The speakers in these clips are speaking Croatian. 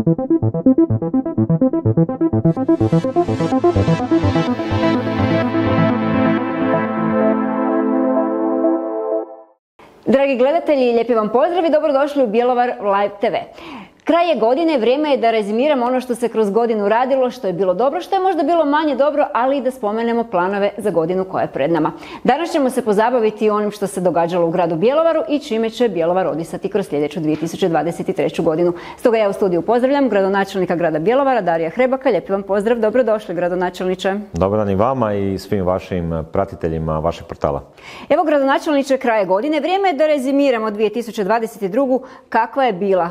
Dragi gledatelji, lijepi vam pozdrav i dobrodošli u Bjelovar Live TV. Kraj je godine, vrijeme je da rezimiramo ono što se kroz godinu radilo, što je bilo dobro, što je možda bilo manje dobro, ali i da spomenemo planove za godinu koja je pred nama. Danas ćemo se pozabaviti onim što se događalo u gradu Bjelovaru i čime će Bjelovar odisati kroz sljedeću 2023. godinu. Stoga ja u studiju pozdravljam gradonačelnika grada Bjelovara, Darija Hrebaka. Lijepi vam pozdrav, dobrodošli gradonačelniče. Dobar dan i vama i svim vašim pratiteljima vašeg portala. Evo gradonačelniče, kraje godine, vrijeme je da rezimiramo 2022. Kakva je bila?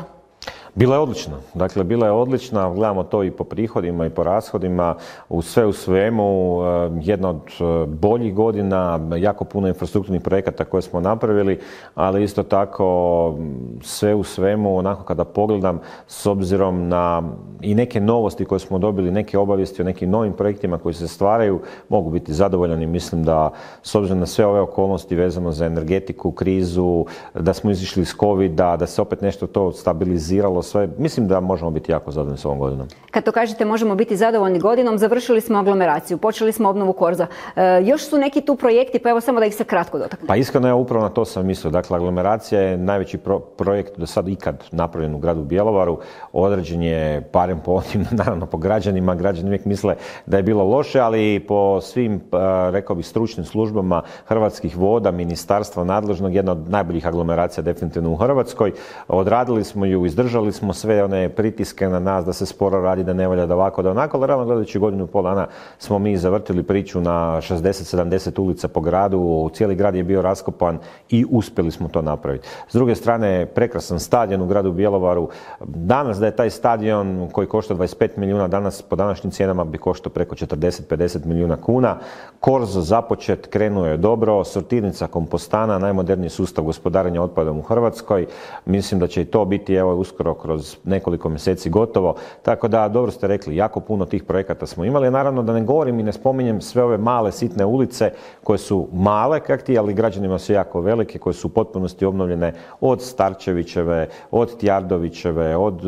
Bila je odlična. Dakle, bila je odlična. Gledamo to i po prihodima i po rashodima. U svemu, jedna od boljih godina, jako puno infrastrukturnih projekata koje smo napravili, ali isto tako sve u svemu, onako kada pogledam, s obzirom na i neke novosti koje smo dobili, neke obavijesti o nekim novim projektima koji se stvaraju, mogu biti zadovoljan i mislim da s obzirom na sve ove okolnosti vezano za energetiku, krizu, da smo izišli iz covida, da se opet nešto to stabiliziralo, sve, mislim da možemo biti jako zadovoljni s ovom godinom. Kad to kažete možemo biti zadovoljni godinom, završili smo aglomeraciju, počeli smo obnovu korza. Još su neki tu projekti, pa evo samo da ih se kratko dotaknem. Pa iskreno ja upravo na to sam mislio. Dakle, aglomeracija je najveći projekt do sad ikad napravljen u gradu Bjelovaru. Određen je barem po onim, naravno po građanima. Građani uvijek misle da je bilo loše, ali po svim, rekao bih, stručnim službama Hrvatskih voda, ministarstva nadležnog, jedna od najboljih aglomeracija definitivno u Hrvatskoj. Odradili smo ju, izdržali smo sve one pritiske na nas da se sporo radi, da ne valja, da ovako, da onako, ali realno gledajući godinu i pol dana smo mi zavrtili priču na 60-70 ulica po gradu, cijeli grad je bio raskopan i uspjeli smo to napraviti. S druge strane, prekrasan stadion u gradu Bjelovaru. Danas da je taj stadion koji košta 25 milijuna, danas po današnjim cijenama bi koštao preko 40-50 milijuna kuna. Korzo započet, krenuo je dobro, sortirnica, kompostana, najmoderniji sustav gospodarenja otpadom u Hrvatskoj. Mislim da će i to biti evo uskoro kroz nekoliko mjeseci gotovo. Tako da, dobro ste rekli, jako puno tih projekata smo imali. Naravno da ne govorim i ne spominjem sve ove male, sitne ulice koje su male kakti, ali građanima su jako velike, koje su u potpunosti obnovljene od Starčevićeve, od Tjardovićeve, od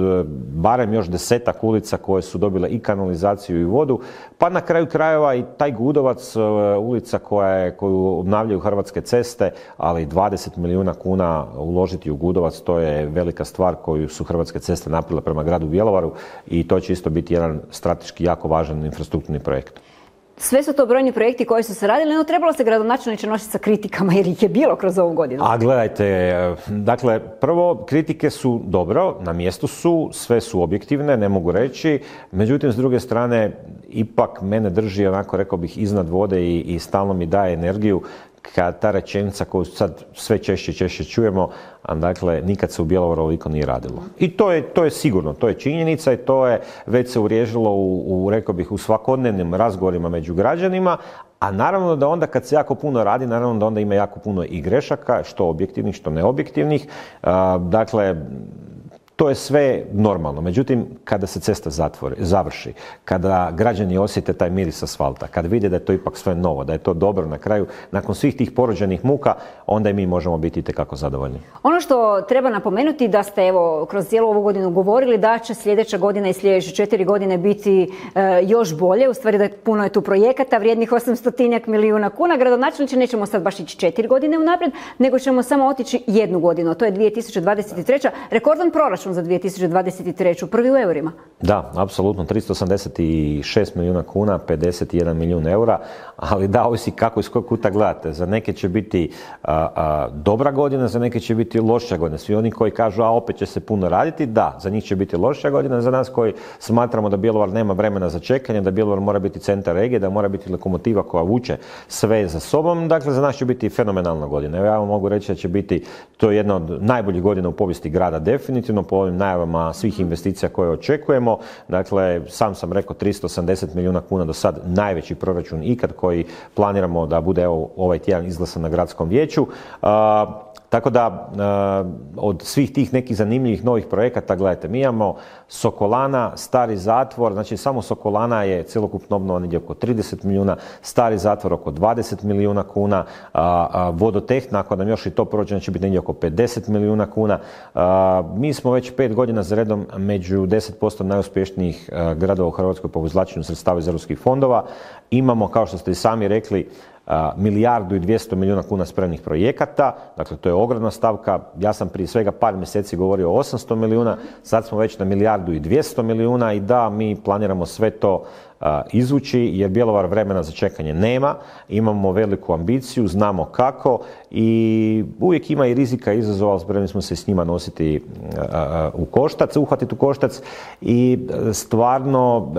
barem još 10-ak ulica koje su dobile i kanalizaciju i vodu. Pa na kraju krajeva i taj Gudovac, ulica koju obnavljaju Hrvatske ceste, ali 20 milijuna kuna uložiti u Gudovac, to je velika stvar koju su Hrvatske ceste napravile prema gradu Bjelovaru i to će isto biti jedan strateški jako važan infrastrukturni projekt. Sve su to brojni projekti koji su se radili, no trebalo se gradonačelniče nositi sa kritikama jer ih je bilo kroz ovu godinu. A gledajte, dakle, prvo, kritike su dobro, na mjestu su, sve su objektivne, ne mogu reći, međutim, s druge strane, ipak mene drži, onako rekao bih, iznad vode i stalno mi daje energiju kad ta rečenica koju sad sve češće čujemo, a dakle, nikad se u Bjelovaru ovoliko nije radilo. I to je sigurno, to je činjenica i to je već se uvriježilo rekao bih, u svakodnevnim razgovorima među građanima, a naravno da onda kad se jako puno radi, naravno da onda ima jako puno i grešaka, što objektivnih, što neobjektivnih. Dakle, to je sve normalno. Međutim, kada se cesta završi, kada građani osjete taj miris asfalta, kada vide da je to ipak sve novo, da je to dobro na kraju, nakon svih tih porođenih muka, onda i mi možemo biti itekako zadovoljni. Ono što treba napomenuti da ste evo kroz cijelu ovu godinu govorili da će sljedeća godina i sljedeće 4 godine biti još bolje. U stvari da puno je tu projekata vrijednih 800 milijuna kuna. Gradonačelniče, nećemo sad baš ići 4 godine unaprijed, nego ćemo samo otići jednu godinu. To je 2023. Rekordan proračun za 2023. Prvi u eurima. Da, apsolutno. 386 milijuna kuna, 51 milijun eura, ali da, ovisi kako iz kojeg kuta gledate. Za neke će biti dobra godina, za neke će biti loša godina. Svi oni koji kažu, a opet će se puno raditi, da, za njih će biti loša godina. Za nas koji smatramo da Bjelovar nema vremena za čekanje, da Bjelovar mora biti centar regije, da mora biti lokomotiva koja vuče sve za sobom, dakle za nas će biti fenomenalna godina. Evo ja vam mogu reći da će biti to jedna od najboljih godina u povijesti grada, definitivno po ovim najavama svih investicija koje očekujemo. Dakle, sam rekao 380 milijuna kuna do sad, najveći proračun ikad koji planiramo da bude ovaj tjedan izglasan na gradskom vijeću. Tako da od svih tih nekih zanimljivih novih projekata, gledajte, mi imamo Sokolana, stari zatvor, znači samo Sokolana je cjelokupno obnova negdje oko 30 milijuna, stari zatvor oko 20 milijuna kuna, vodotehna, ako nam još i to prođe, će biti negdje oko 50 milijuna kuna. Mi smo već 5 godina za redom među 10% najuspješnijih gradova u Hrvatskoj po izvlačenju sredstava iz europskih fondova. Imamo, kao što ste i sami rekli, 1,2 milijarde kuna spremnih projekata, dakle to je ogromna stavka. Ja sam prije svega par mjeseci govorio o 800 milijuna, sad smo već na 1,2 milijarde i da, mi planiramo sve to izvući jer Bjelovar vremena za čekanje nema, imamo veliku ambiciju, znamo kako i uvijek ima i rizika i izazova, ali spremni smo se s njima nositi uhvatiti u koštac i stvarno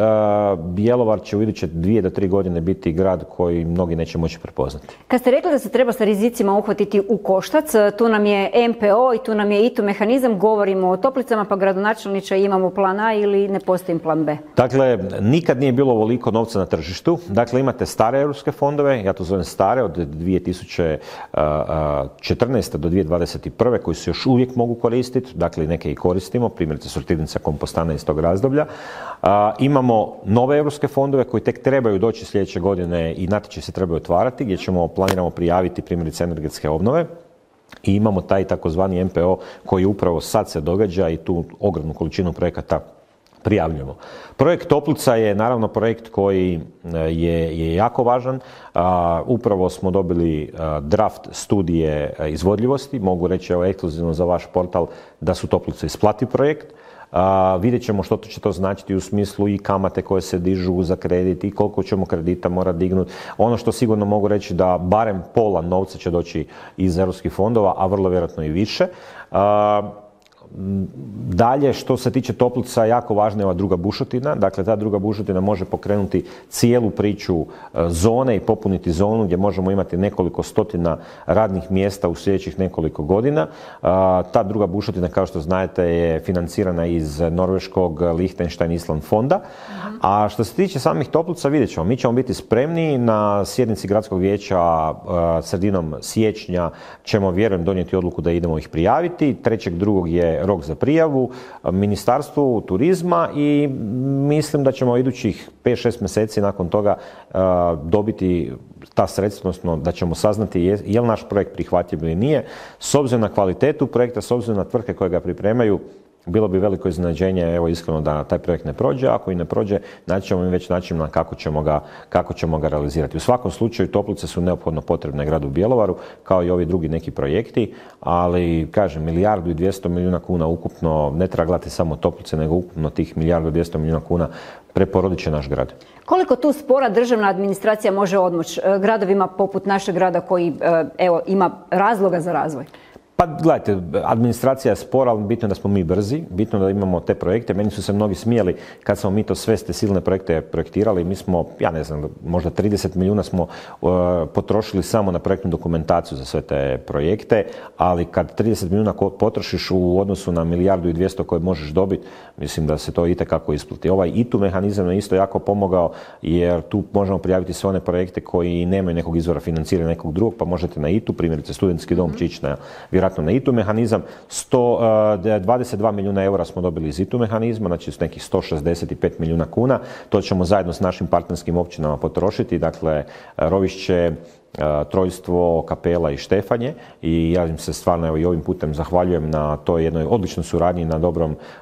Bjelovar će u iduće 2 do 3 godine biti grad koji mnogi neće moći prepoznati. Kad ste rekli da se treba sa rizicima uhvatiti u koštac, tu nam je MPO i tu nam je ITU mehanizam, govorimo o Toplicama, pa gradonačelniče imamo plan A ili ne postoji plan B? Dakle, nikad nije bilo ovoliko novca na tržištu. Dakle, imate stare europske fondove, ja to zovem stare, od 2014. do 2021. koji se još uvijek mogu koristiti, dakle neke i koristimo, primjerice sortirnica kompostana iz tog razdoblja. Imamo nove europske fondove koji tek trebaju doći sljedeće godine i natječaji se trebaju otvarati, gdje planiramo prijaviti primjerice energetske obnove. I imamo taj takozvani MPO koji upravo sad se događa i tu ogromnu količinu projekata prijavljujemo. Projekt Toplica je naravno projekt koji je jako važan. Upravo smo dobili draft studije izvodljivosti. Mogu reći evo ekskluzivno za vaš portal da su Toplice isplati projekt. Vidjet ćemo što će to značiti u smislu i kamate koje se dižu za kredit i koliko ćemo kredita mora dignuti. Ono što sigurno mogu reći da barem pola novca će doći iz europskih fondova, a vrlo vjerojatno i više. Dalje, što se tiče Toplica, jako važna je ova druga bušotina. Dakle, ta druga bušotina može pokrenuti cijelu priču zone i popuniti zonu gdje možemo imati nekoliko stotina radnih mjesta u sljedećih nekoliko godina. Ta druga bušotina, kao što znate, je financirana iz Norveškog, Liechtenstein, Island fonda. A što se tiče samih Toplica, vidjet ćemo. Mi ćemo biti spremni na sjednici gradskog vijeća sredinom siječnja. Ćemo, vjerujem, donijeti odluku da idemo ih prijaviti. 3.2. je rok za prijavu Ministarstvu turizma i mislim da ćemo idućih 5-6 mjeseci nakon toga dobiti ta sredstva, odnosno da ćemo saznati je li naš projekt prihvatljiv ili nije. S obzirom na kvalitetu projekta, s obzirom na tvrtke koje ga pripremaju, bilo bi veliko iznenađenje, evo iskreno, da taj projekt ne prođe. Ako i ne prođe, naći ćemo već način na kako ćemo ga realizirati. U svakom slučaju Toplice su neophodno potrebne gradu Bjelovaru, kao i ovi drugi neki projekti, ali kažem, 1,2 milijarde kuna ukupno, ne treba gledati samo Toplice, nego ukupno tih 1,2 milijarde kuna preporodit će naš grad. Koliko tu spora državna administracija može odmoći gradovima poput našeg grada koji ima razloga za razvoj? Pa gledajte, administracija je spora, ali bitno je da smo mi brzi, bitno je da imamo te projekte. Meni su se mnogi smijali kad smo mi to sve te silne projekte projektirali. Mi smo, ja ne znam, možda 30 milijuna smo potrošili samo na projektnu dokumentaciju za sve te projekte, ali kad 30 milijuna potrošiš u odnosu na 1,2 milijarde koje možeš dobiti, mislim da se to itekako isplati. Ovaj ITU mehanizam je isto jako pomogao, jer tu možemo prijaviti sve one projekte koji nemaju nekog izvora financiranja nekog drugog, pa možete na ITU, primjerice studentski dom će ići na ITU mehanizam. 22 milijuna eura smo dobili iz ITU mehanizma, znači s nekih 165 milijuna kuna. To ćemo zajedno s našim partnerskim općinama potrošiti, dakle Rovišće, Trojstvo, Kapela i Štefanje, i ja im se stvarno evo i ovim putem zahvaljujem na toj jednoj odličnoj suradnji, na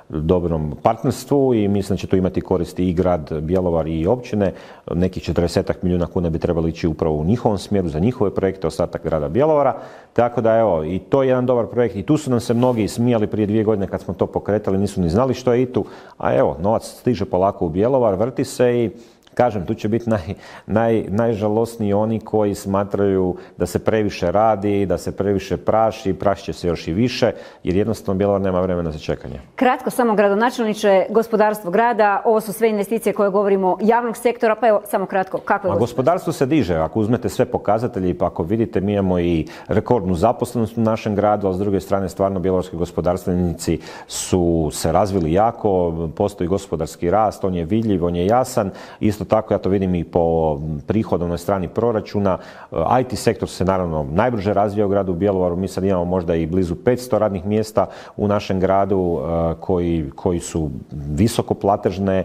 dobrom partnerstvu, i mislim da će to imati koristi i grad Bjelovar i općine. Nekih 40 milijuna kuna bi trebali ići upravo u njihovom smjeru za njihove projekte, ostatak grada Bjelovara. Tako da evo, i to je jedan dobar projekt, i tu su nam se mnogi smijali prije 2 godine kad smo to pokretali, nisu ni znali što je ITU, a evo, novac stiže polako u Bjelovar, vrti se, i kažem, tu će biti najžalosniji oni koji smatraju da se previše radi, da se previše praši će se još i više, jer jednostavno Bjelovar nema vremena za čekanje. Kratko, samo gradonačelniče, gospodarstvo grada, ovo su sve investicije koje govorimo javnog sektora, pa evo, samo kratko, kako je gospodarstvo se diže, ako uzmete sve pokazatelje, pa ako vidite, mi imamo i rekordnu zaposlenost u našem gradu, a s druge strane stvarno bjelovarski gospodarstvenici su se razvili jako, postoji gospodarski rast, on je vidljiv, on je jasan, isto Isto tako ja to vidim i po prihodovnoj strani proračuna. IT sektor se naravno najbrže razvija u gradu Bjelovaru. Mi sad imamo možda i blizu 500 radnih mjesta u našem gradu koji su visoko platežne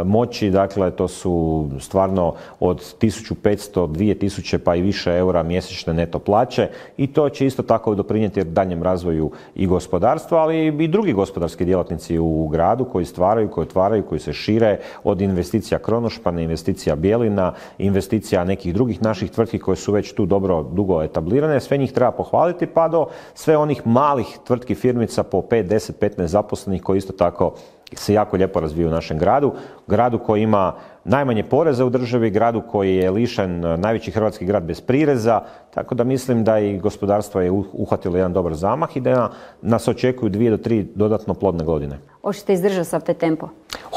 moći. Dakle, to su stvarno od 1500, 2000 pa i više eura mjesečne neto plaće i to će isto tako doprinijeti daljnjem razvoju i gospodarstva, ali i drugi gospodarski djelatnici u gradu koji stvaraju, koji otvaraju, koji se šire, od investicija Kronošpana, investicija Bjelina, investicija nekih drugih naših tvrtki koje su već tu dugo etablirane. Sve njih treba pohvaliti pa do sve onih malih tvrtki, firmica po 5, 10, 15 zaposlenih koji isto tako se jako lijepo razviju u našem gradu. Gradu koji ima najmanje poreza u državi, gradu koji je lišen, najveći hrvatski grad bez prireza, tako da mislim da i gospodarstvo je uhvatilo jedan dobar zamah i da nas očekuju 2 do 3 dodatno plodne godine. Hoćete izdržati sav taj tempo?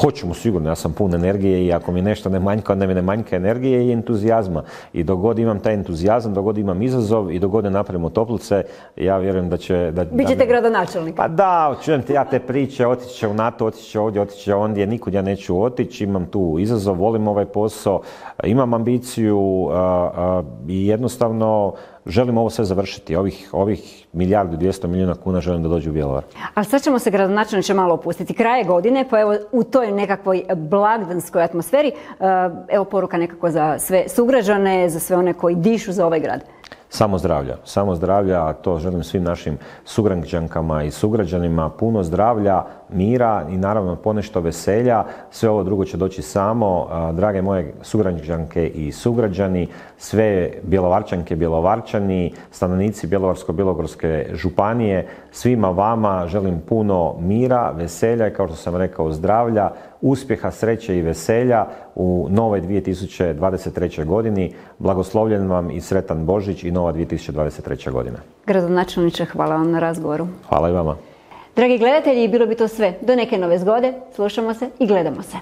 Hoćemo sigurno, ja sam pun energije i ako mi nešto ne manjka, onda mi ne manjka energije i entuzijazma. I dok god imam taj entuzijazam, dok god imam izazov i dok god ne napravimo toplice, ja vjerujem da će... Bićete gradonačelnik. Pa da, čujem ja te priče, otići će u NATO, otići će ovdje, otići će ondje, nikud ja neću otići, imam tu izazov, volim ovaj posao, imam ambiciju i jednostavno želim ovo sve završiti. Ovih 1,2 milijarde kuna želim da dođu u Bjelovar. Ali sad ćemo se gradonačelniče malo opustiti. Kraj je godine, pa evo u toj nekakvoj blagdanskoj atmosferi, evo poruka nekako za sve sugrađane, za sve one koji dišu za ovaj grad. Samo zdravlja, a to želim svim našim sugrađankama i sugrađanima, puno zdravlja, mira i naravno ponešto veselja. Sve ovo drugo će doći samo. Drage moje sugrađanke i sugrađani, sve Bjelovarčanke, Bjelovarčani, stanovnici Bjelovarsko-bilogorske županije, svima vama želim puno mira, veselja i kao što sam rekao zdravlja, uspjeha, sreće i veselja u novoj 2023. godini. Blagoslovljen vam i sretan Božić i nova 2023. godina. Gradonačelniče, hvala vam na razgovoru. Hvala i vama. Dragi gledatelji, bilo bi to sve. Do neke nove zgode, slušamo se i gledamo se.